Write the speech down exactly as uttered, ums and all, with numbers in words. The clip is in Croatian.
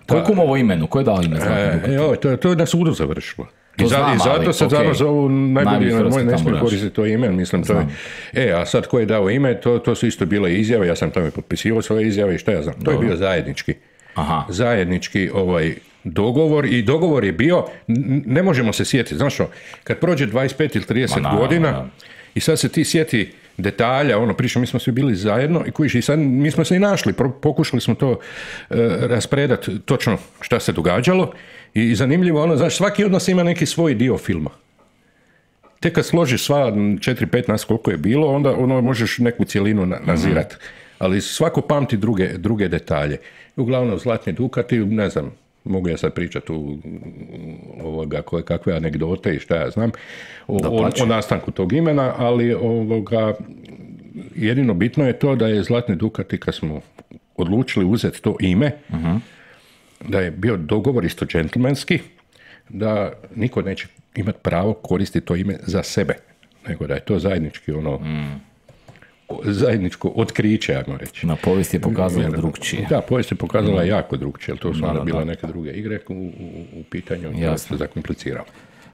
Ko je kumovo imenu? Ko je dao ime Zlatni Dukati? E, joj, to, to je na sudu završilo. To I, za, znam, i zato ali, se okay. zato zovu najbolji, moj ne smije koristiti to ime, mislim, to je, e, a sad ko je dao ime, to, to su isto bile izjave, ja sam tamo potpisivao svoje izjave i šta ja znam, to Dobro. je bio zajednički, Aha. zajednički ovaj, dogovor i dogovor je bio, ne možemo se sjetiti, znaš što, kad prođe dvadeset pet ili trideset Ma, na, godina na. i sad se ti sjeti detalja, ono, pričam, mi smo svi bili zajedno i kojiš, i sad mi smo se i našli, pokušali smo to uh, raspredati točno šta se događalo i zanimljivo, ono, znaš, svaki od nas ima neki svoj dio filma. Tek kad složiš sva četiri pet nas koliko je bilo, onda ono možeš neku cjelinu na, nazirati. Mm-hmm. Ali svako pamti druge, druge detalje. Uglavnom, Zlatni Dukati, ne znam, mogu ja sad pričati u ovoga, koje, kakve anegdote i šta ja znam o, o, o nastanku tog imena, ali ovoga, jedino bitno je to da je Zlatni Dukati, kad smo odlučili uzeti to ime, uh-huh. da je bio dogovor isto džentlmenski, da niko neće imati pravo koristiti to ime za sebe, nego da je to zajednički ono mm. zajedničko otkriće, ajmo reći. Na povijest je pokazala drugčije. Da, povijest je pokazala mm. jako drugčije, jer to su onda bila neke druge igre u, u, u pitanju, to se zakompliciralo.